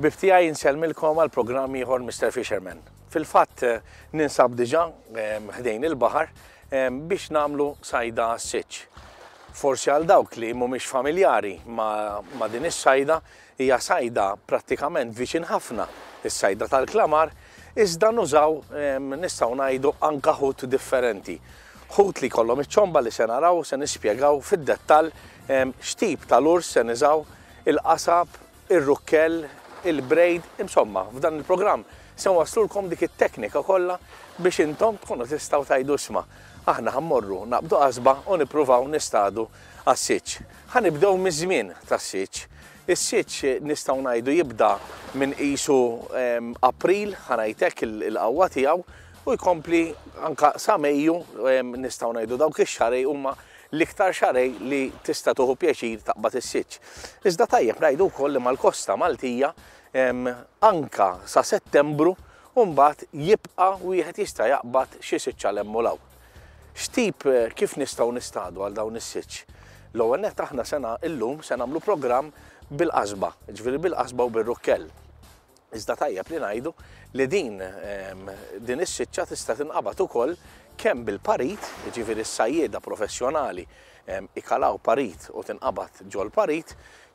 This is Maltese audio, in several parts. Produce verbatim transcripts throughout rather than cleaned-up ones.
Ħbieb tiegħi, insellmilkom għal programm ieħor Mister Fisherman. Fil-fatt ninsab diġà ħdejn il-baħar biex nagħmlu sajda għas-siċċ. Forsi għal dawk li mhumiex familjari ma, ma din is-sajda, hija sajda prattikament viċin ħafna is-sajda tal-klamar, iżda nużaw, nistgħu ngħidu, anka ħut differenti. Ħut li kollhom iċ-ċomba li se naraw, se nispjegaw fid-dettall x'tip tal-urs se niżaw, il-qasab, ir-rukkell, il-braid, insomma, f'dan il-programm se nwaslulkom dik it-teknika kollha biex intom tkunu tistgħu tgħidu isma', aħna ħammorru naqbdu qasba u nippruvaw nistadu għas-siċċ. Ħa nibdew miż-żmien tas-siċċ. Is-siċċ nistgħu ngħidu jibda minn qisu April, ħa ngħidlek il-qawwa tiegħu, u jkompli anka sa Mejju, nistgħu ngħidu dawk ix-xarej huma l-iktar xarej li tista' tieħu pjaċir taqbad is-siċċ. Iżda tajjeb ngħidu wkoll li mal-kosta Maltija anka sa Settembru u mbagħad jibqa' wieħed jista' jaqbad xi siċċa 'l hemm u 'l hawn. X'tip, kif nistgħu nistadu għal dawn is-siċċ? L-ewwel nett aħna sena illum se nagħmlu programm bil-qasba, ġifieri bil-qasba u bir-rukkell. Iżda tajjeb li ngħidu li din, din is-siċċa tista' tinqabad ukoll kemm bil-parit, jiġifieri s-sajjieda professjonali ikalaw parit u tinqabad ġol parit,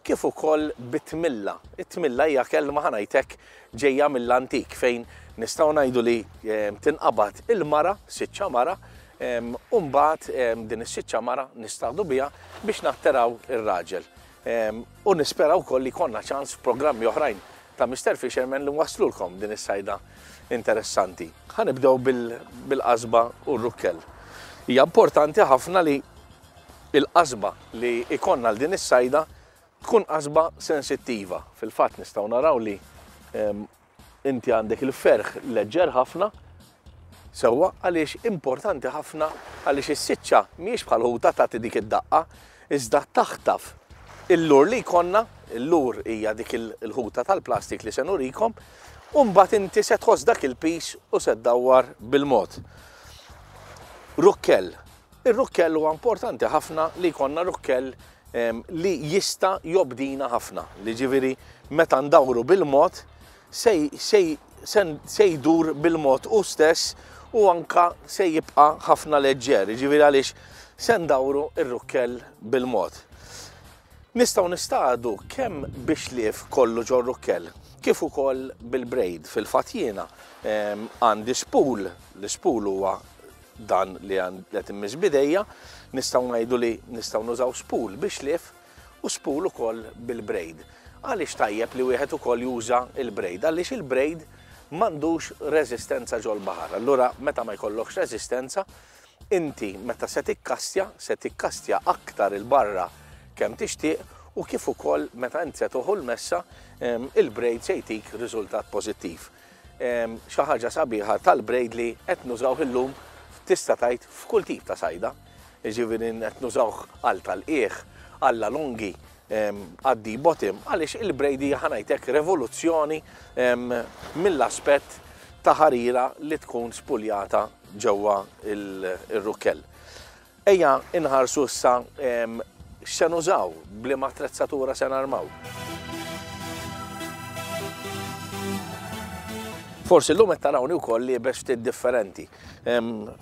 kif ukoll bit-tmilla. It-tmilla hija kelma, ħa ngħidlek, ġejja mill-antik fejn nistgħu ngħidu li tinqabad il-mara, siċċa mara, u mbagħad din is-siċċa mara nistgħu biha biex natteraw ir-raġel. U nispera wkoll li jkollna ċans f'programmi oħrajn ta' Mister Fisherman li waslulkom din is-sajda interessanti. Ħa nibdew bil-qasba u r-rukkell. Hija importanti ħafna li il-qasba li ikonna għal din is-sajda tkun qasba sensittiva. Fil-fatt nistgħu naraw li inti għandek il-ferħ leġġer ħafna, sewwa, għaliex importanti ħafna għaliex is-siċċa mhijiex bħal ħuta tagħti dik id-daqqa, iżda taħtaf il-lur li jkollna, il-lur hija dik il-ħuta tal-plastik li se nurikom, u mbagħad inti se tħoss dak il-pis u se ddawwar bil-mod. Rukkell. Ir-rukkell huwa importanti ħafna li jkollna rukkell li jista' jobdina ħafna, li ġifieri meta ndawru bil-mod se jdur bil-mod u stess u anka se jibqa' ħafna leġġer, ġifieri għaliex se ndawru ir-rukkell bil-mod. Nistgħu nistadu kemm biex lief kollu ġol rukkell, kif ukoll bil-braid. Fil-fatt jiena għandi spool, l-spool huwa dan li qed immiss bidejja, nistgħu ngħidu li nistgħu nużaw spool biex lief u spool ukoll bil-braid. Għaliex tajjeb li wieħed ukoll juża il-braid? Għaliex il-braid m'għandux reżistenza ġol-baħar. Allura meta ma jkollokx reżistenza, inti meta se tikkastja, se tikkastja aktar il-barra kemm tixtieq, u kif ukoll meta int se toħu l-messa, il-braid se jtik riżultat pożittiv. Xi ħaġa sabiħa tal-braid li qed nużawh illum tista' tgħid f'kull tip ta' sajda. Jiġifieri qed nużawh għal tal-qiegħ, għal longi, għaddi bottom, għaliex il-braid hija, ħa ngħidlek, revoluzzjoni mill-aspett ta' ħarira li tkun spuljata ġewwa il-rukkell. Ejja inħarsu issa x'se nużaw, b'liema attrezzatura se narmaw. Forsi llum qed tarawni wkoll liebes ftit differenti.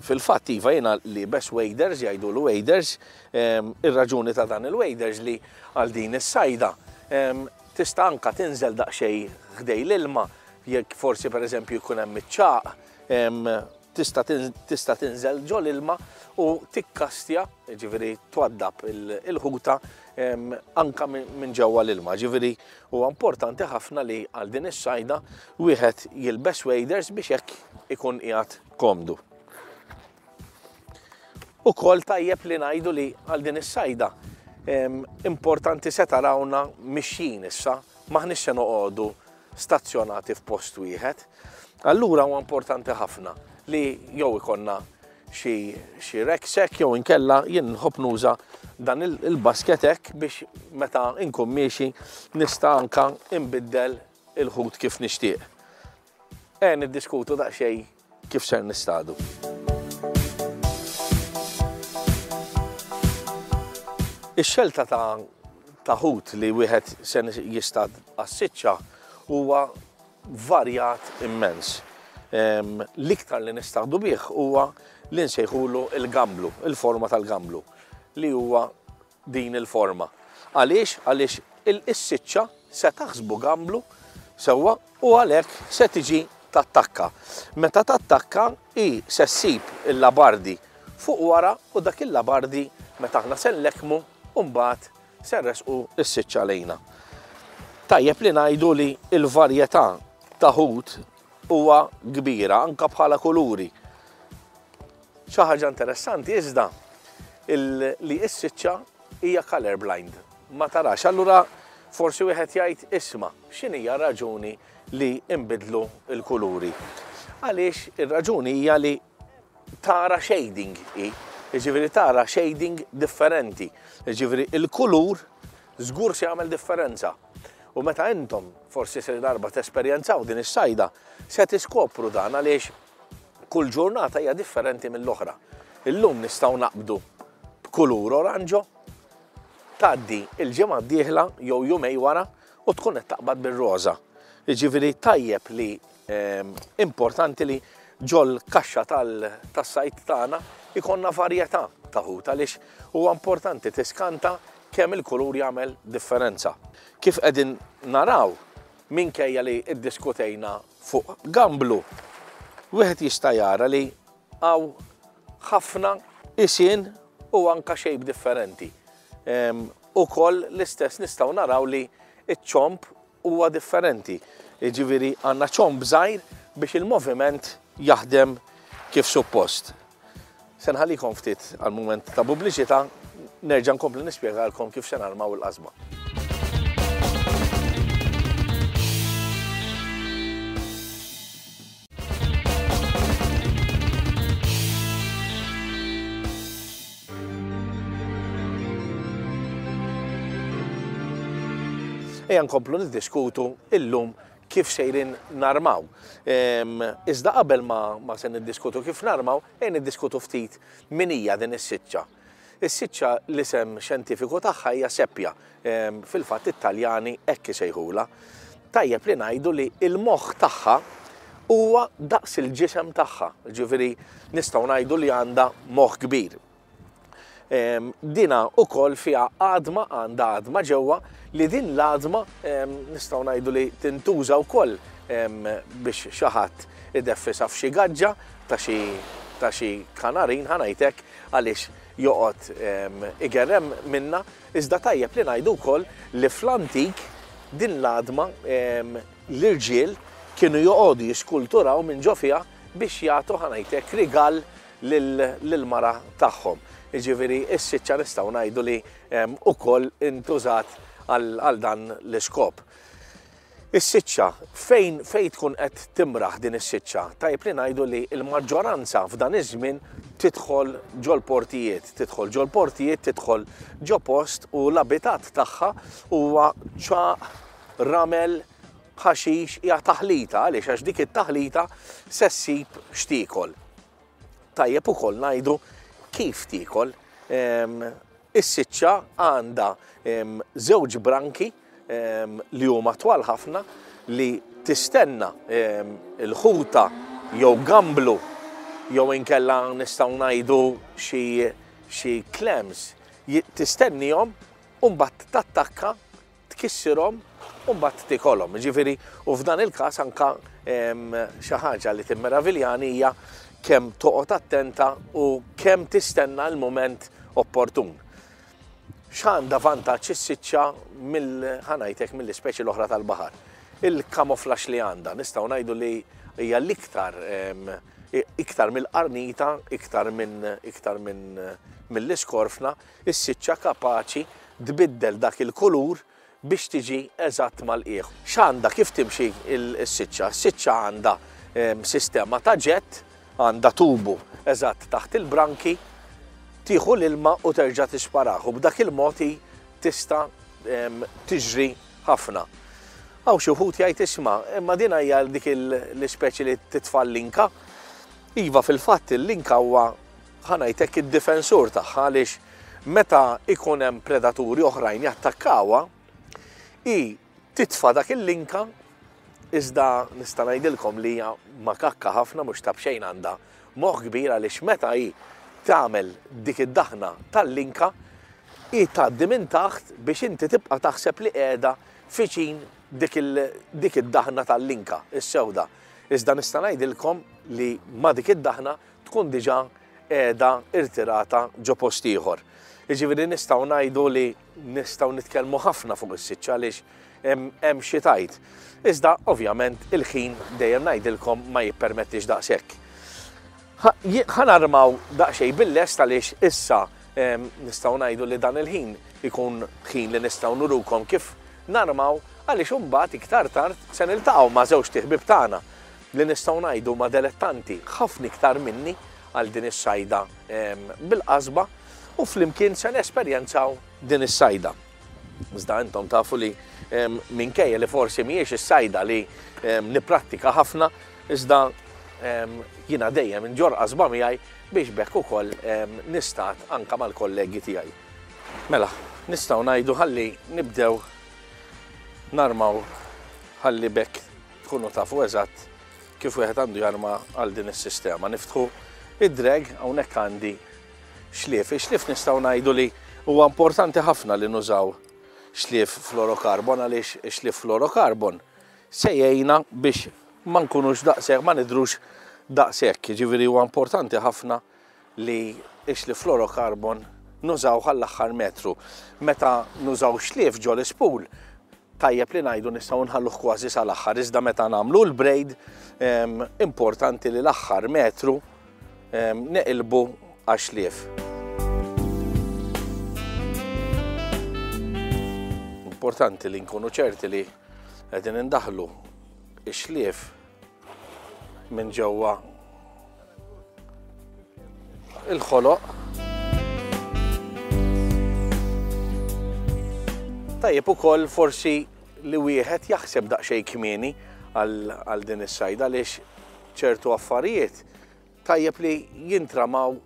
Fil-fatt iva jiena liebes waders, jgħidulu waders. Ir-raġuni ta' dan il-waders li għal din is-sajda tista' anka tinżel daqsxejn ħdej l-ilma, jekk forsi pereżempju jkun hemm iċ-ċagħaq, tista' tista' tinżel ġol ilma u tikkastja, ġifieri twaddab il-ħuta anka minn ġewwa l-ilma. Ġifieri huwa importanti ħafna li għal din is-sajda wieħed jilbes waders biex hekk ikun qiegħed komdu. Ukoll tajjeb li ngħidu li għal din is-sajda importanti se tarawna mixjin issa, m'aħniex se noqogħdu stazzjonati f'post wieħed. Allura huwa importanti ħafna li jew ikonna xi, xi rucksack jew inkella jien nħobb nuża dan il-basket hekk biex meta nkun miexi nista' anka nbiddel il-ħut kif nixtieq. E niddiskutu daqsxejn kif ser nistadu. Ix-xelta ta', ta' ħut li wieħed se jistad għas-siċċa huwa varjat immens. L-iktar li nistaqdu bih huwa li nsejħulu il-gamblu, il-forma tal-gamblu, li huwa din il-forma. Għaliex? Għaliex il-siċċa se taħsbu gamblu sewwa u għalhekk se tiġi tattakka. Meta tattakka hi se ssib il-labardi fuq wara u dak il-labardi meta aħna se nlekkmu u mbagħad se nresqu s-siċċa lejna. Tajjeb li ngħidu li l-varjetà ta' ħut huwa kbira anke bħala kuluri. Xi ħaġa interessanti iżda li s-siċċa hija color blind, ma tarax. Allura forsi wieħed jgħid isma' x'inhija raġuni li nbidlu l-kuluri. Għaliex ir-raġuni hija li tara shading hi, jiġifieri tara shading differenti. Jiġifieri il-kulur żgur se jagħmel differenza. U meta intom forsi se darba tesperjenzaw din is-sajda, se tiskopru dan għaliex kull ġurnata hija differenti mill-oħra. Illum nistgħu naqbdu b'kulur oranġo, tgħaddi il-ġimgħa d-dieħla jew jumej wara u tkun qed taqbad bir-roża. Jiġifieri tajjeb li importanti li ġol kaxxa tas-sajt tagħna ikonna varjetà ta' ħut għaliex huwa importanti tiskanta kemm il-kulur jagħmel differenza. Kif qegħdin naraw minkejja li ddiskutejna fuq gamblu, wieħed jista' jara li hawn ħafna isien u anka shape differenti. Ukoll l-istess nistgħu naraw li ċ-ċomb huwa differenti. Jiġifieri għandna ċomb żgħir biex il-moviment jaħdem kif suppost. Se nħallikom ftit għal mument ta' pubbliċità, nerġa' nkompli nispjegalkom kif se narmaw il-qasba. Ejja nkomplu niddiskutu illum kif sejrin narmaw. Iżda qabel ma, ma se niddiskutu kif narmaw, ejja niddiskutu ftit min hija din is-siċċa. Is-siċċa l-isem xjentifiku tagħha hija seppja, fil-fatt it-Taljani hekk isejħulha. Tajjeb li ngħidu li l-moħħ tagħha huwa daqs il-ġisem tagħha, ġifieri nistgħu ngħidu li għandha moħħ kbir. Dina ukoll fiha għadma, għandha għadma ġewwa li din l-għadma nistgħu ngħidu li tintuża wkoll biex xi ħadd ideffisha f'xi gaġġa ta' xi ta' xi kanarin ħa ngħidlek għaliex joqgħod igerrem minna. Iżda tajjeb li ngħidu wkoll li fl-antik din l-għadma l-irġiel kienu joqogħdu jiskulturaw minn ġo fiha biex jagħtu ħa ngħidlek rigal lill-mara tagħhom. Jiġifieri s-siċċa nistgħu ngħidu li ukoll intużat għal dan l-iskop. Is-siċċa fejn fejn tkun qed timraħ din is-siċċa, tajjeb li ngħidu li l-maġġoranza f'dan iż-żmien tidħol ġol-portijiet, tidħol ġol-portijiet, tidħol ġo post u l-abitat tagħha huwa ċaq, ramel, ħaxix, hija taħlita għaliex għax dik it-taħlita se ssib x'tiekol. Tajjeb ukoll ngħidu kif tiekol. Is-siċċa għandha żewġ branki li huma twal ħafna li tistenna il-ħuta jew gamblu jew inkella nistgħu ngħidu xi clams, tistennihom u mbagħad tattakka, tkissirhom u mbagħad tikolhom. Jiġifieri u f'dan il-każ anke xi ħaġa li timmeraviljani hija kemm toqgħod attenta u kemm tistenna l-mument opportun. X'għandha vantaġġ is-siċċa mill ħa ngħidlek mill-ispeċi l-oħra tal-baħar? Il-kamuflaġġ li għandha, nistgħu ngħidu li hija l-iktar iktar mill-qarnita, iktar minn iktar minn mill-iskorfna, is-siċċa kapaċi tbiddel dak il-kulur biex tiġi eżatt mal-qiegħ. X'għandha kif timxi s-siċċa? Is-siċċa għandha sistema ta' ġett, għandha tubu eżatt taħt il-branki, tieħu l-ilma u terġa' tisparah u b'dak il-mod tista' tiġri ħafna. Hawn xi wħud jgħid isma', imma din hija dik l-ispeċi li titfa' l-linka. Iva fil-fatt il-linka huwa ħa ngħidlek id-difensur tagħha għaliex meta ikun hemm predaturi oħrajn jattakkawha, hi titfa' dak il-linka Iżda nista' ngħidilkom li hija makakka ħafna, mhux ta' b'xejn għandha moħħ kbir, għaliex meta hi tagħmel dik id-daħna tal-linka hi tgħaddi minn taħt biex inti tibqa' taħseb li qiegħda fiċin dik id-daħna tal-linka is-sewda. Iżda nista' ngħidilkom li ma dik id-daħna tkun diġà qiegħda irtirata ġo post ieħor. Jiġifieri nistgħu ngħidu li nistgħu nitkellmu ħafna fuq is-siċċa għaliex hemm xi tajt. Iżda ovvjament il-ħin dejjem ngħidilkom ma jippermettix daqshekk. Ħa narmaw daqsxejn bil-lest għaliex issa nistgħu ngħidu li dan il-ħin ikun ħin li nistgħu nurukom kif narmaw, għaliex imbagħad iktar tard se niltaqgħu ma' żewġ ħbieb tagħna li nistgħu ngħidu ma' dilettanti ħafna iktar minni għal din is-sajda bil-qasba, u flimkien se nesperjenzaw din is-sajda. Iżda intom tafu li minkejja li forsi mhijiex is-sajda li nipprattika ħafna, iżda jiena dejjem inġorr qasba miegħi biex bekk ukoll nistat anka mal-kollegi tiegħi. Mela, nistgħu ngħidu ħalli nibdew narmaw ħalli bekk tkunu tafu eżatt kif wieħed għandu jarma għal din is-sistema. Niftħu id-drag, hawnhekk għandi xlief. Ix-xlief nistgħu ngħidu li huwa importanti ħafna li nużaw xlief fluorocarbon, għaliex xlief fluorocarbon se jgħinna biex ma nkunux daqshekk, ma nidrux daqshekk. Jiġifieri huwa importanti ħafna li x-xlief fluorocarbon nużaw għall-aħħar metru. Meta nużaw xlief ġol ispool, tajjeb li ngħidu nistgħu nħalluh kważi sal-aħħar, iżda meta nagħmlu l-braid importanti li l-aħħar metru neqilbu għax-xlief. Importanti li nkunu ċerti li qegħdin indaħlu x-xlief minn ġewwa il-ħoloq. Tajjeb ukoll forsi li wieħed jaħseb daqsxejn kmieni għal din is-sajda, għaliex ċertu affarijiet tajjeb li jintramaw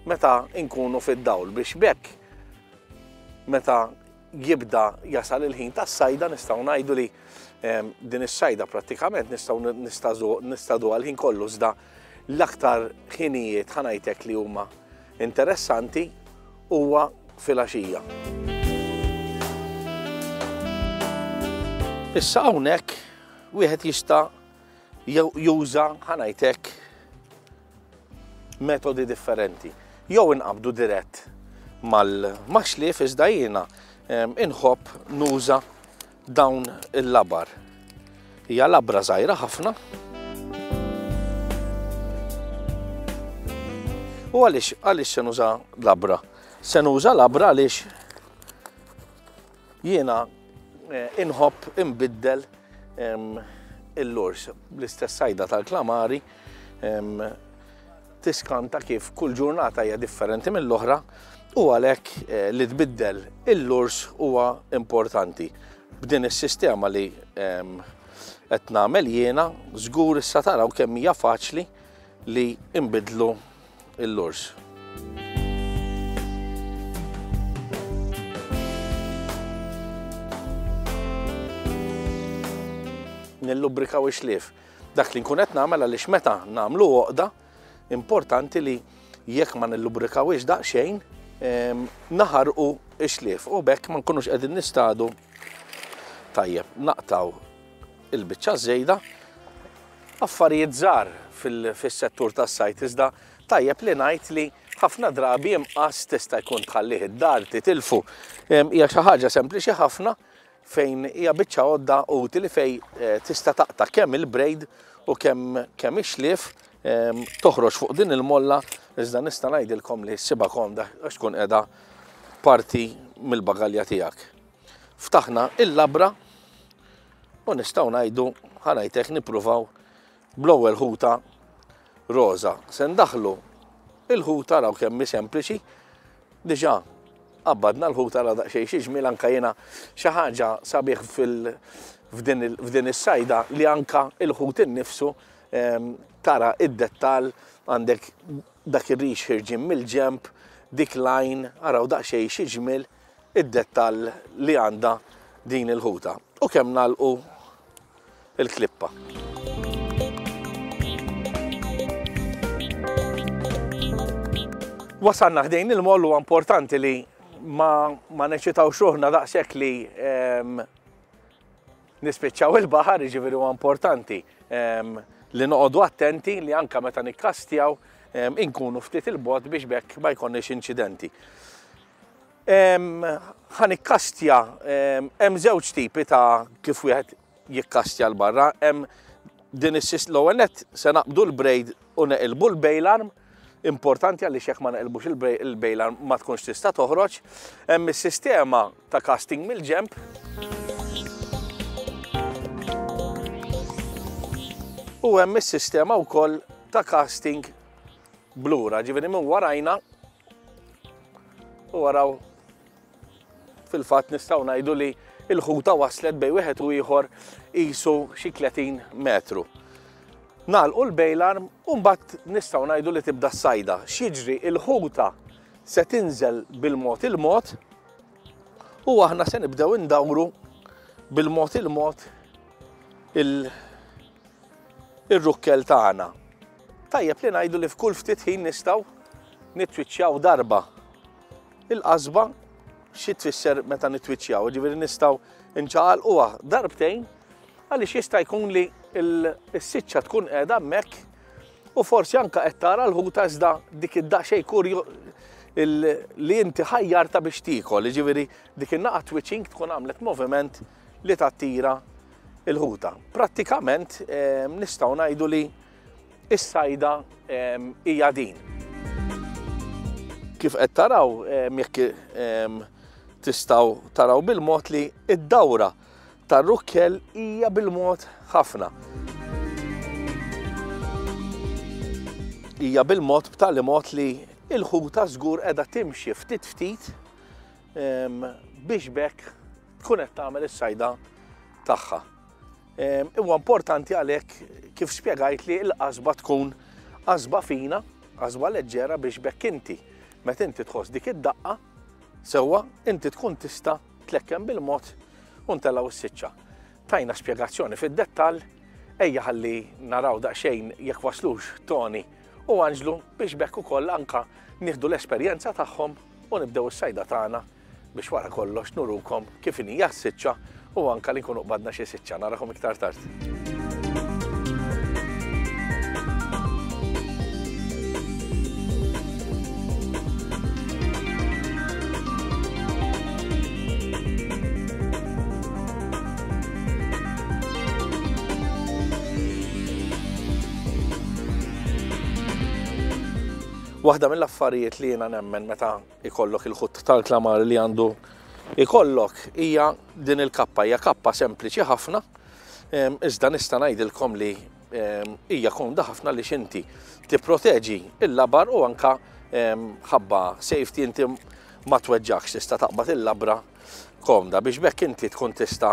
meta nkunu fid-dawl biex bekk meta jibda jasal il-ħin tas-sajda nistgħu ngħidu li din is-sajda prattikament nistgħu nistadu għal ħin kollu, iżda l-aktar ħinijiet ħa ngħidlek li huma interessanti huwa filgħaxija. Issa hawnhekk wieħed jista' juża ħa ngħidlek metodi differenti. Jew inqabdu dirett mal-xlief, iżda jiena inħobb nuża dawn il-labar. Hija labra żgħira ħafna. U għaliex għaliex se nuża labra? Se nuża labra għaliex jiena inħobb inbiddel il-lurs. L-istess sajda tal-klamari tiskanta kif kull ġurnata hija differenti mill-oħra, u għalhekk li tbiddel il-lurs huwa importanti. B'din is-sistema li qed nagħmel jiena, żgur issa taraw kemm hija faċli li nbidlu il-lurs. Nillubrikaw ix-xlief. Dak li nkun qed nagħmel għaliex meta nagħmlu għoqda, importanti li jekk ma nillubbrikawhiex daqsxejn naħarqu x-xlief u bekk ma nkunux qegħdin nistadu. Tajjeb, naqtaw il-biċċa żejda. Affarijiet żgħar fis-settur tas-sajt, iżda tajjeb li ngħid li ħafna drabi imqas tista' jkun tħallih id-dar titilfu. Hija xi ħaġa sempliċi ħafna fejn hija biċċa għodda utili fejn tista' taqta' kemm il-braid u kemm kemm ix-xlief, toħroġ fuq din il-molla, iżda nista' ngħidilkom li ssibha komda għax tkun qiegħda parti mill-bagalja tiegħek. Ftaħna il-labra u nistgħu ngħidu ħa ngħidlek nippruvaw bl-ewwel ħuta roża. Se ndaħlu il-ħuta, raw kemm hi sempliċi, diġà qabbadna l-ħuta ra daqsxejn xi ġmiel, anke jiena xi ħaġa sabiħ f'din is-sajda li anke il-ħut innifsu tara id-dettall, għandek dak ir-rix ħirġin mill-ġemp, dik lajn, araw daqsxejn xi ġmiel id-dettall li għandha din il-ħuta. U kemm nagħlqu il-klippa. Wasalna ħdejn il-moll, huwa importanti li ma, ma neċitawx ruħna daqshekk li ehm, nispiċċaw il-baħar, jiġifieri huwa importanti ehm, li noqogħdu attenti li anka meta nikkastjaw ehm, inkunu ftit il-bogħod biex bekk ma jkollniex inċidenti. Ħa nikkastja, hemm żewġ tipi ta' kif wieħed jikkastja 'l barra, hemm din is l-ewwel nett se naqbdu l-braid u neqilbu l-bail arm, importanti għaliex jekk ma neqilbux il-bail arm ma tkunx tista' toħroġ. Hemm is-sistema ta' casting mill-ġemp. U hemm is-sistema wkoll ta' casting blura, ġifieri minn warajna u waraw fil-fatt nistgħu ngħidu li l-ħuta waslet bejn wieħed u ieħor qisu xi tletin metru. Nagħlqu l-bail arm u mbagħad nistgħu ngħidu li tibda s-sajda. X'jiġri, il-ħuta se tinżel bil-mod il-mod u aħna se nibdew indawru bil-mod il-mod il-rukkel tagħna. Tajjeb li ngħidu li f'kull ftit ħin nistgħu nitwiċċjaw darba il-qasba. Xi tfisser meta nitwiċċjaw? Ġifieri nistgħu nċaqalquha darbtejn għaliex jista' jkun li s-siċċa tkun qiegħda hemmhekk u forsi anke qed tara l-ħuta iżda dik id-daqsxejn kurju li inti ħajjarta biex tiekol, jiġifieri dik in-naqa twitching tkun għamlet moviment li tattira l-ħuta. Prattikament nistgħu ngħidu li s-sajda hija din. Kif qed taraw, jekk tistgħu taraw bil-mod li id-dawra tar-rukkel hija bil-mod ħafna. Hija bil-mod b'tali mod li l-ħuta żgur qiegħda timxi ftit ftit biex bekk tkun qed tagħmel is-sajda tagħha. Huwa importanti għalhekk kif spjegajt li l-qasba tkun qasba fina, qasba leġġera biex bekk inti meta inti tħoss dik id-daqqa sewwa inti tkun tista' tlekkem bil-mod u ntellgħu s-siċċa. Tajna spjegazzjoni fid-dettall, ejja ħalli naraw daqsxejn jekk waslux Toni u Anġlu biex bekk ukoll anka nieħdu l-esperjenza tagħhom u nibdew is-sajda tagħna biex wara kollox nurukom kif inhi s-siċċa u anka li nkunu qbadna xi siċċa. Narakom iktar tard. Waħda mill-affarijiet li jiena nemmen meta ikollok il-ħut tal-klamar li għandu ikollok hija din il-kappa, hija kappa sempliċi ħafna, iżda nista' ngħidilkom li hija komda ħafna li xinti tipproteġi il-labar u anka ħabba safety inti ma tweġġakx, tista' taqbad il-labra komda biex bekk inti tkun tista'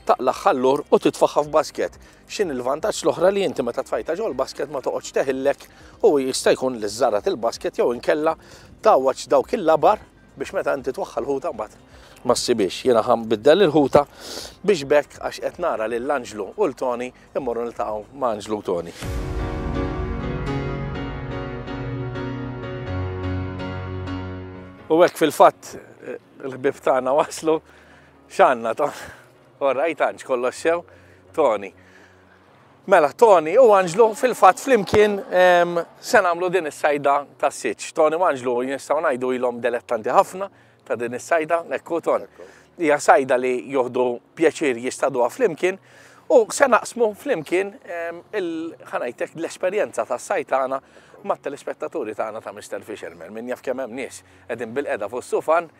taqlaħ llur u titfaħħa f'basket. X'in il-vantaġġ l-oħra li inti meta tfajta ġol basket ma toqgħodx teħillek u jista' jkun li żżarat il-basket jew inkella tgħawwaġ dawk il-labar biex meta inti twaħħal ħuta mbagħad ma ssibix. Jiena ħa nbiddel il-ħuta biex bekk għax qed nara lil Anġlu u l Toni immorru niltaqgħu ma' Anġlu u Toni. U hekk fil-fatt il-ħbieb tagħna waslu x'għandna Ton. All right, Anġ, kollox sew, Toni. Mela, Toni u Anġlu fil-fatt flimkien se nagħmlu din is-sajda tas-siċ. Toni u Anġlu nistgħu ngħidu ilhom delettanti ħafna ta' din is-sajda, ekku Ton. Hija sajda li joħdu pjaċir jistaduha flimkien u se naqsmu flimkien ħanajtek l-esperjenza tas-sajd tagħna mat-telespettaturi tagħna ta' Mister Fisherman. Min jaf kemm hemm nies qegħdin bil-qeda fuq is-sufan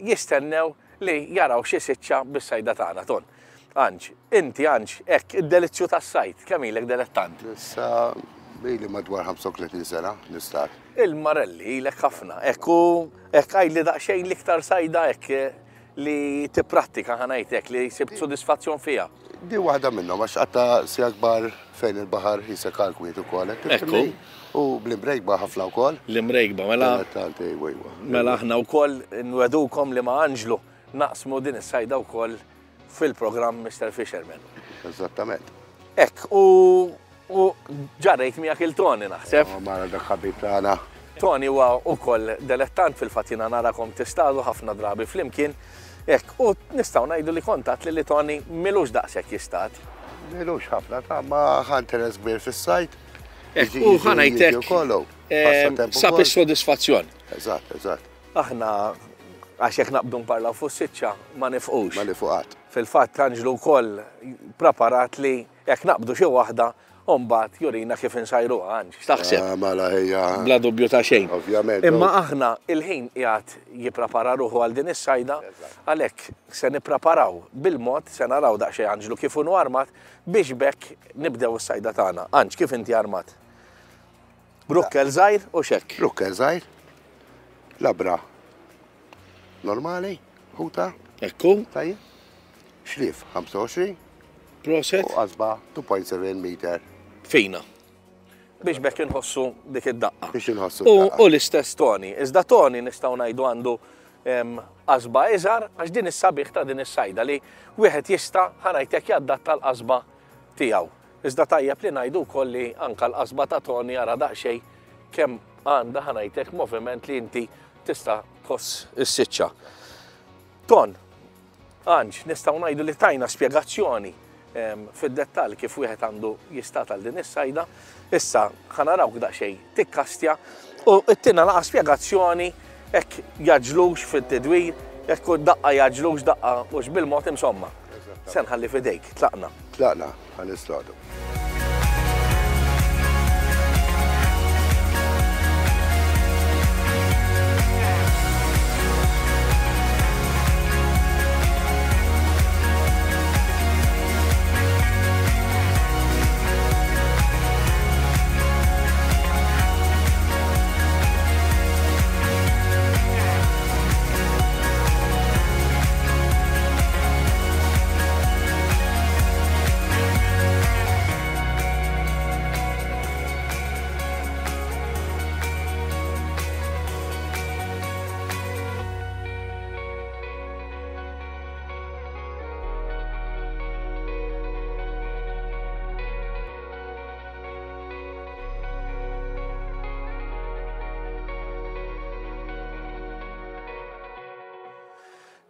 jistennew li jaraw xi siċċa bis-sajda tagħna, Ton. Anġ, inti Anġ, hekk id-delizzju tas-sajd, kemm ilek delettant? Issa ili madwar ħamsa u tletin sena nistad. Il-Marelli ilek ħafna, hekk u hekk għidli daqsxejn l-iktar sajda hekk li tipprattika ħanajtek li sibt sodisfazzjon fiha. Di waħda minnhom għax qatta si akbar fejn il-baħar jisek għal kwiet ukoll, hekk Ekku. U bl-imrejkba ħafna wkoll. L-imrejkba, mela. Dilettanti, ejwa, ejwa. Mela aħna wkoll nwedukom li ma' Anġlu naqsmu din is-sajda wkoll fil-programm Mister Fisherman. Eżattament. Hekk, u u ġarrejt miegħek il-Tony naħseb. Mara dak ħabib tagħna. Tony huwa wkoll delettant, fil-fatt jiena narakom tistadu ħafna drabi flimkien. Hekk, u nistgħu ngħidu li kontat li li Tony milux daqshekk jistad. Milux ħafna ta' ma ħa interess kbir fis-sajd. Hekk, u ħa ngħidlek sab is-sodisfazzjon. Eżatt, eżatt. Aħna għax jekk naqbdu nparlaw fuq siċċa ma nifqux. Ma nifqu. Fil-fatt Anġlu wkoll preparat li jekk naqbdu xi waħda u mbagħad jurina kif insajruha, Anġ. X'taħseb? Mela ħejja. Bla dubju ta' xejn. Ovvjament. Imma aħna il-ħin qiegħed jipprepara ruħu għal din is-sajda, għalhekk se nippreparaw bil-mod, se naraw daqsxejn Anġlu kif inhu armat biex bekk nibdew is-sajda tagħna. Anġ, kif inti armat? Brukkel żgħir u xekk. Brukkel żgħir. Labra. Normali, ħuta. Ekku. Tajjeb. Xlief ħamsa u għoxrin. Proset. U qasba two point seven meter. Fina. Biex bekk inħossu dik id-daqqa. Biex inħossu d-daqqa. U l-istess Tony. Iżda Tony nistgħu ngħidu għandu qasba iżgħar għax din is-sabiħ ta' din is-sajda li wieħed jista' ħa ngħidlek jadatta l-qasba tiegħu. Iżda tajjeb li ngħidu wkoll li anke l-qasba ta' Tony ara daqsxejn kemm għandha ħa ngħidlek moviment li inti tista' tħoss is-siċċa. Ton, Anġ, nistgħu ngħidu li tajna spjegazzjoni fid-dettall kif wieħed għandu jistat għal din is-sajda. Issa ħa narawk daqsxejn tikkastja u ttina naqa' spjegazzjoni hekk jaġlux fit-tidwir, hekk daqqa jaġlux daqqa mhux bil-mod insomma. Se nħalli f'idejk, tlaqna. Tlaqna, ħa nistadu.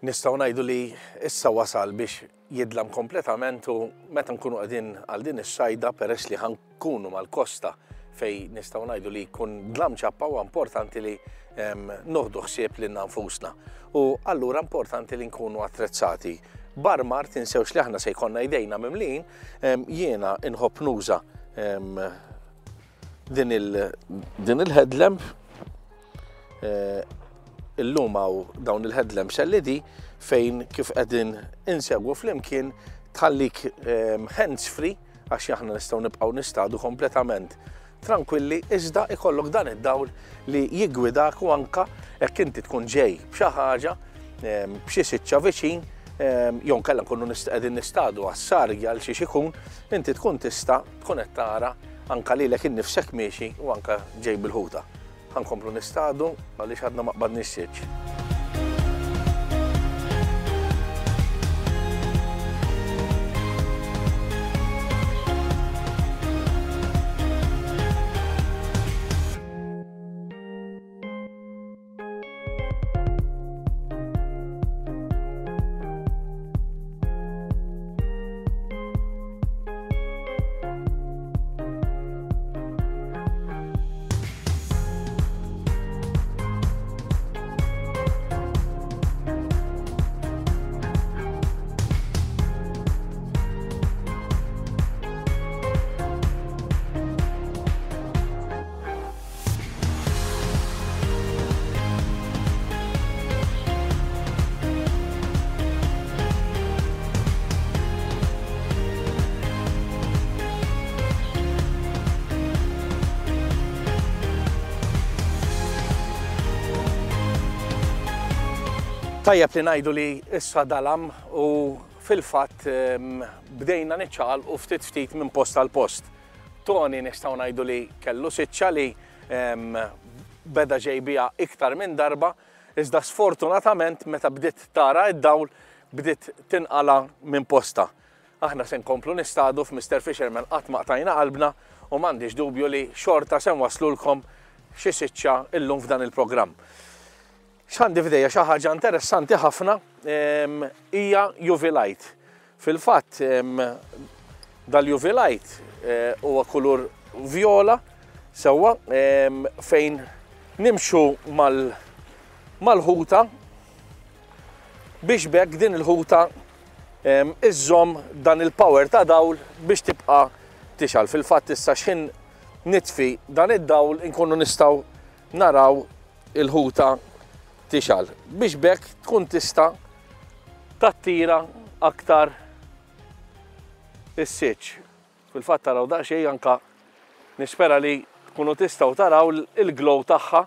Nistgħu ngħidu li issa wasal biex jidlam kompletament u meta nkunu qegħdin għal din is-sajda peress li ħankunu mal-kosta fej nistgħu ngħidu li jkun dlam ċappa huwa importanti li noħdu ħsieb lilna nfusna. U allura importanti li nkunu attrezzati. Barmar tinsewx li aħna se jkollna jdejna mimlin, jiena inħobb nuża din il-headlamp. Illum hawn dawn il-headlamps L E D fejn kif qegħdin insegwu flimkien tħallik hands free għax aħna nistgħu nibqgħu nistadu kompletament tranquilli, iżda ikollok dan id-dawl li jiggwidak u anka jekk inti tkun ġej b'xi ħaġa, b'xi siċċa viċin, jew nkella nkunu qegħdin nistadu għas-sargja għal xi ikun, inti tkun tista' tkun qed tara anka lilek innifsek miexi u anka ġej bil-ħuta. Ħankomplu nistadu għaliex għadna ma qbadniex siċċ. Tajjeb li ngħidu li issa dalam u fil-fatt bdejna niċċaqalqu ftit ftit minn post għal post. Tony nistgħu ngħidu li kellu siċċa li beda ġej biha iktar minn darba, iżda sfortunatament meta bdiet tara id-dawl bdiet tinqala minn posta. Aħna se nkomplu nistadu f'Mister Fisherman, qatt ma qtajna qalbna u m'għandix dubju li xorta se nwaslulkom xi siċċa illum f'dan il-programm. X'għandi f'idejja xi ħaġa interessanti ħafna hija U V light. Fil-fatt dal-U V light huwa kulur viola sewwa fejn nimxu mal-ħuta biex bekk din il-ħuta iżżomm dan il-power ta' dawl biex tibqa' tixgħal. Fil-fatt issa x'ħin nitfi dan id-dawl inkunu nistgħu naraw il-ħuta tixgħal biex bekk tkun tista' tattira aktar is-siċ. Fil-fatt taraw daqsxejn anka nispera li tkunu tistgħu taraw il-glow tagħha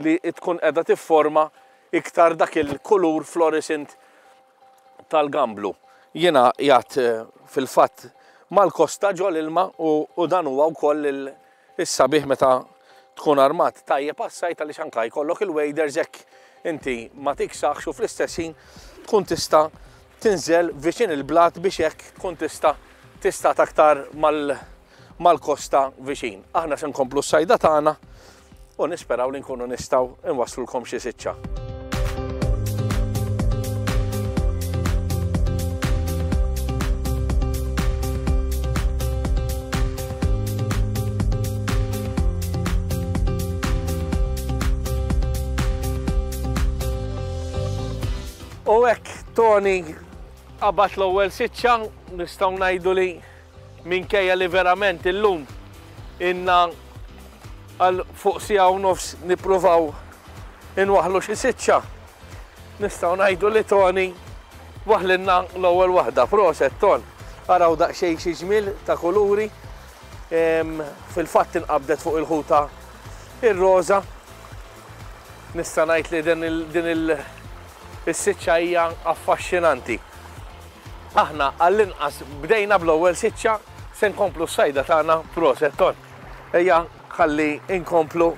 li tkun qiegħda tifforma iktar dak il-kulur fluorescent tal-gamblu. Jiena qiegħed fil-fatt mal-kosta ġol ilma u dan huwa wkoll is-sabiħ meta tkun armat tajjeb għas-sajt għaliex anke jkollok il-waders hekk inti ma tiksaħx u fl-istess ħin tkun tista' tinżel viċin il-blat biex hekk tkun tista' tista' aktar mal-kosta viċin. Aħna se nkomplu s-sajda tagħna u nisperaw li nkunu nistgħu nwaslulkom xi siċċa. U hekk Tony qabad l-ewwel siċċa, nistgħu ngħidu li minkejja li verament illum inna għal fuq siegħa u nofs nippruvaw inwaħħlu xi siċċa. Nistgħu ngħidu li Tony waħlinna l-ewwel waħda. Proset Ton. Araw daqsxejn xi ġmiel ta' kuluri. Fil-fatt inqabdet fuq il-ħuta ir-roża. Nista' ngħid li din il-, din il-, is-siċċa hija affaxxinanti. Aħna għall-inqas bdejna bl-ewwel siċċa, se nkomplu s-sajda tagħna. Proset Ton. Ejja ħalli nkomplu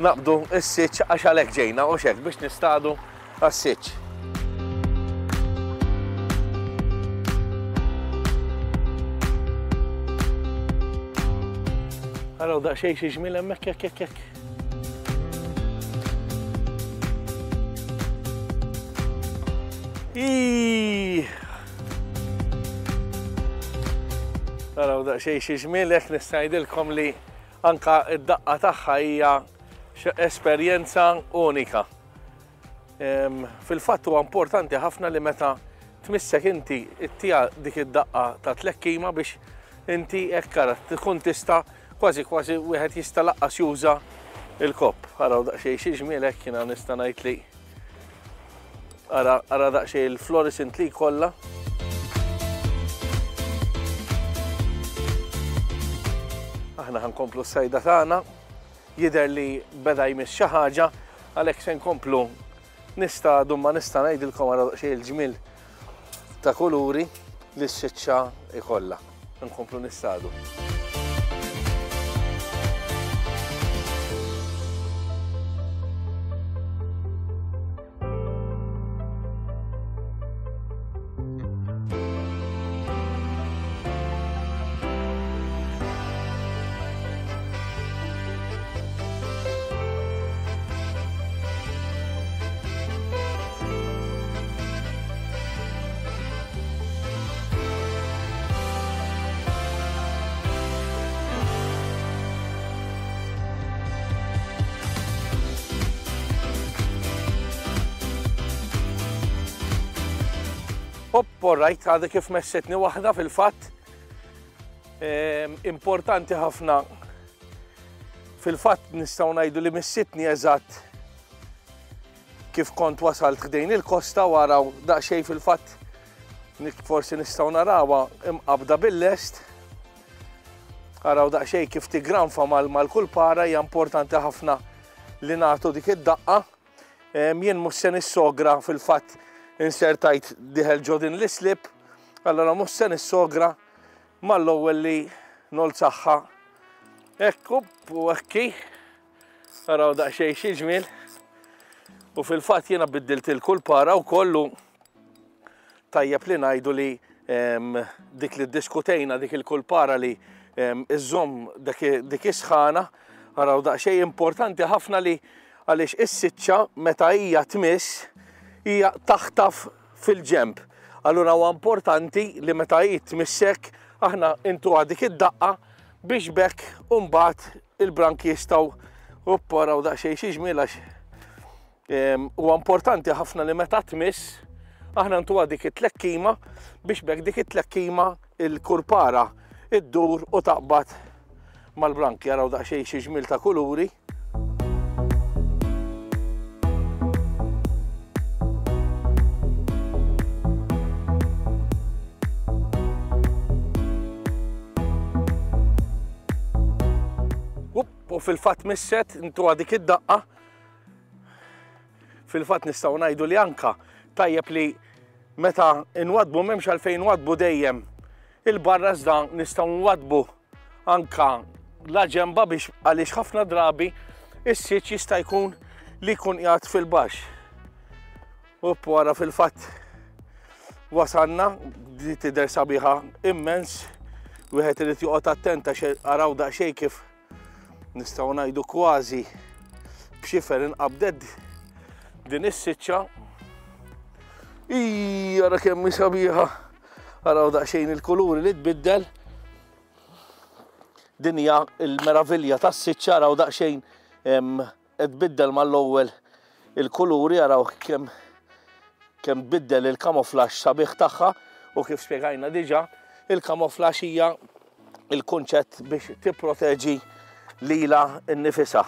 naqbdu s-siċċ għax għalhekk ġejna u x'hekk biex nistadu għas-siċċ. Araw daqsxejn xi ġmiel hemmhekk hekk hekk hekk. Iiii! Araw daqsxejn xi ġmiel hekk nista' ngħidilkom li anka id-daqqa tagħha hija esperjenza unika. Em, fil-fatt huwa importanti ħafna li meta tmissek inti ittija dik id-daqqa ta' tlekkima biex inti hekk ara tkun tista' kważi kważi wieħed jista' laqqas juża il-kopp. Araw daqsxejn xi ġmiel hekk jiena nista' ngħid li ara, ara daqsxejn il-fluorescent li kollha. Aħna ħankomplu s-sajda tagħna, jidher li beda jmiss xi ħaġa, għalhekk se nkomplu nistadu, ma nista' ngħidilkom ara daqsxejn il-ġmiel ta' kuluri li s-siċċa ikollha. Nkomplu nistadu. Hop, all right, għadha kif messetni waħda fil-fatt. Ehm, importanti ħafna. Fil-fatt nistgħu ngħidu li missitni eżatt kif kont wasalt ħdejn il-kosta u araw daqsxejn fil-fatt forsi nistgħu narawha imqabda bil-lest. Araw daqsxejn kif tigranfa mal-, mal-kulpara, hija importanti ħafna li nagħtu dik id-daqqa. Ehm, jien mhux se nissogra fil-fatt insertajt diħel ġo din l-islip, allora mhux se nissogra mal-ewwel li nolzaħħa. Ekku u ekki, araw daqsxejn xi ġmiel. U fil-fatt jiena biddilt il-kulpara u kollu Tajjeb li ngħidu li dik li ddiskutejna dik il-kulpara li iżżomm dik is-sħana, araw daqsxejn importanti ħafna li għaliex is-siċċa meta hija tmiss hija taħtaf fil-ġemp. Allura huwa importanti li meta hi tmissek aħna intuha dik id-daqqa biex bekk u mbagħad il-branki jistgħu upparaw daqsxejn xi ġmiel għax huwa importanti ħafna li meta tmiss aħna ntuha dik it-tlekkima biex bekk dik it-tlekkima il-kurpara iddur u taqbad mal-branki. Araw daqsxejn xi ġmiel ta' kuluri. U fil-fatt misset intuha dik id-daqqa. Fil-fatt nistgħu ngħidu li anka tajjeb li meta nwadbu m'hemmx għalfejn nwadbu dejjem il-barra iżda nistgħu nwadbu anka la ġemba biex għaliex ħafna drabi is-siċ jista' jkun li jkun qiegħed fil-baxx. U wara fil-fatt wasalna, di tidher sabiħa immens, wieħed irid joqgħod attent għax araw daqsxejn kif nistgħu ngħidu kważi b'xifer inqabdet din is-siċċa. Ij, ara kemm hi sabiħa. Araw daqsxejn il-kuluri li tbiddel. Din hija l-meravilja tas-siċċa, araw daqsxejn tbiddel mal-ewwel il-kuluri, araw kemm kemm tbiddel il-kamuflaġġ sabiħ tagħha u kif spjegajna diġà, il-kamuflaġġ hija il-kunċett biex tipproteġi lila nnifisha.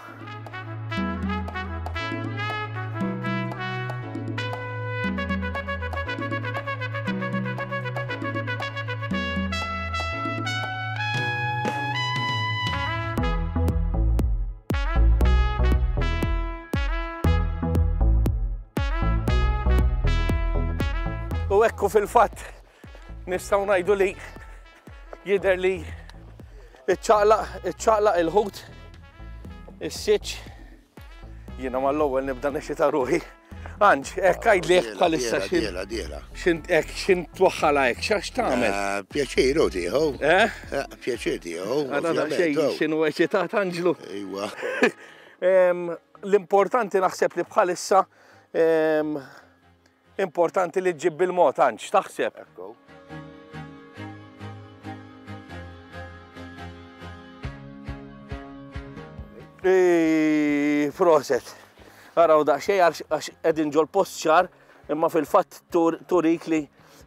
U ekku fil-fatt nistgħu ngħidu li jidher li iċċaqlaq iċċaqlaq il-ħut is-siċ. Jiena mal-ewwel nibda nexxita ruħi. Anġ, hekk għidli hekk bħalissa x'in hekk x'in twaħħalha hekk, x'għax tagħmel? Pjaċir hu tieħu. Eh? Pjaċir tieħu. Ara daqsxejn x'inhu eċitat Anġlu. Ejwa. L-importanti naħseb li bħalissa importanti li ġġib bil-mod, Anġ, taħseb? Ekku. Proset. Araw daqsxejn għax qegħdin ġol-post ċar, imma fil-fatt turik li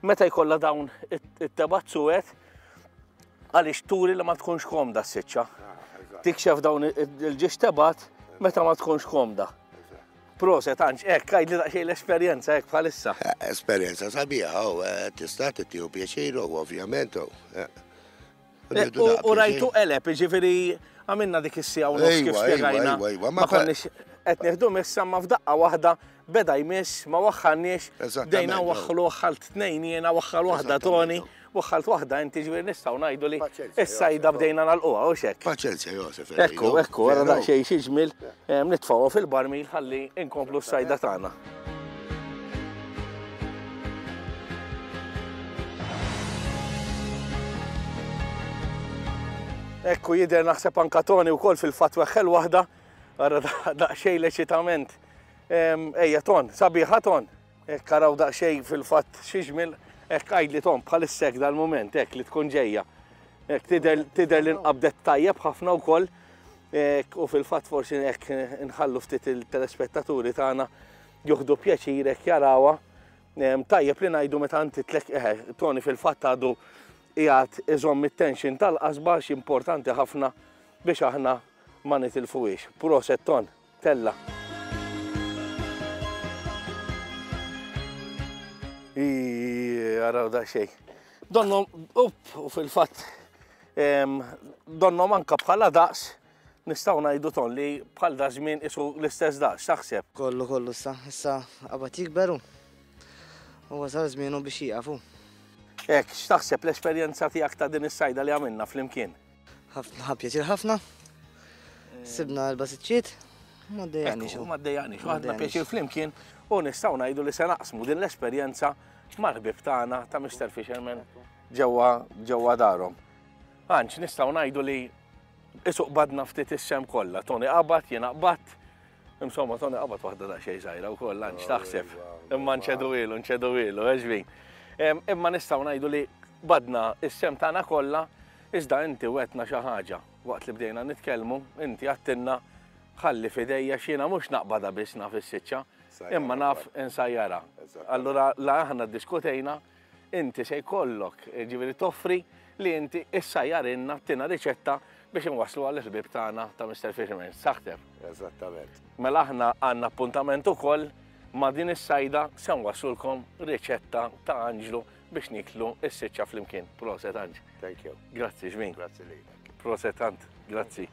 meta jkollha dawn it-tebazzuet għaliex turi li ma tkunx komda s-siċċa. Tikxef dawn il-ġiex tebat meta ma tkunx komda. Proset, Anġ, hekk għidli daqsxejn l-esperjenza hekk bħalissa. Esperjenza sabiħa, tista' tieħu pjaċir ovvjament. U rajtu qeleb, jiġifieri għamilna dik is-siegħa u nofs kif spjegajna. Ma konniex qed nieħdu missa ma f'daqqa waħda beda jmiss, ma waħħalniex, bdejna waħħlu waħħalt tnejn jiena, waħħal waħda Toni, waħħalt waħda inti, ġifieri nistgħu ngħidu li is-sajda bdejna nagħlquha u x'hekk. Paċenzja Josef. Ekku, ekku, ara daqsxejn xi ġmiel nitfgħuha fil-barmil ħalli nkomplu s-sajda tagħna. Ekku jidher naħseb anka Toni wkoll fil-fatt weħħel waħda, ara daqsxejn l-eċitament. Ejja Ton, sabiħa Ton. Hekk araw daqsxejn fil-fatt xi ġmiel, hekk għidli Ton bħalissa hekk dal-mument hekk li tkun ġejja. Hekk tidher li nqabdet tajjeb ħafna wkoll. U fil-fatt forsi hekk nħallu ftit il-telespettaturi tagħna joħdu pjaċir hekk jarawha. Tajjeb li ngħidu meta inti tlek eħe, Toni fil-fatt għadu qiegħed iżomm it-tension tal-qasba għax importanti ħafna biex aħna ma nitilfuhiex. Proset Ton, tella. Araw daqsxejn. Donnom, up, u fil-fatt donnom anka bħala daqs nistgħu ngħidu Ton li bħal da żmien isu l-istess daqs, taħseb? Kollu kollu issa, issa qabad jikberu. U wasal żmienu biex jieqafu. Hekk, x'taħseb l-esperjenza tiegħek ta' din is-sajda li għamilna flimkien? Ħafna pjaċir ħafna. Sibna l-basiċċiet, ma ddejjaqniex. Ma ddejjaqniex, ħadna pjaċir flimkien U nistgħu ngħidu li se naqsmu din l-esperjenza mal-ħbieb tagħna ta' Mister Fisherman ġewwa ġewwa darhom. Anġ, nistgħu ngħidu li issa qbadna ftit is-sehem kollha. Tony qabad, jiena qbadt. Insomma, Tony qabad waħda daqsxejn żgħira wkoll, Anġ, taħseb. Imma nċedu ilu, nċedu ilu, eġvin. Imma nistgħu ngħidu li qbadna is-sehem tagħna kollha, iżda inti wegħedtna xi ħaġa. Waqt li bdejna nitkellmu, inti għedtilna ħalli f'idejja x'jiena mhux naqbadha biss naf is-siċċa, imma naf insajjarha. Allura la aħna diskutejna, inti se jkollok, ġifieri toffri li inti issajjarilna, ttina riċetta biex nwaslu għall-ħbieb tagħna ta' Mister Fisherman. Saħteb. Eżattament. Mela aħna għandna appuntament ukoll ma' din is-sajda se nwaslulkom riċetta ta' Anġlu biex niklu is-siċċa flimkien. Proset, Anġ. Thank you. Grazzi, ġmin. Grazzi lilek. Proset, Ant. Grazzi.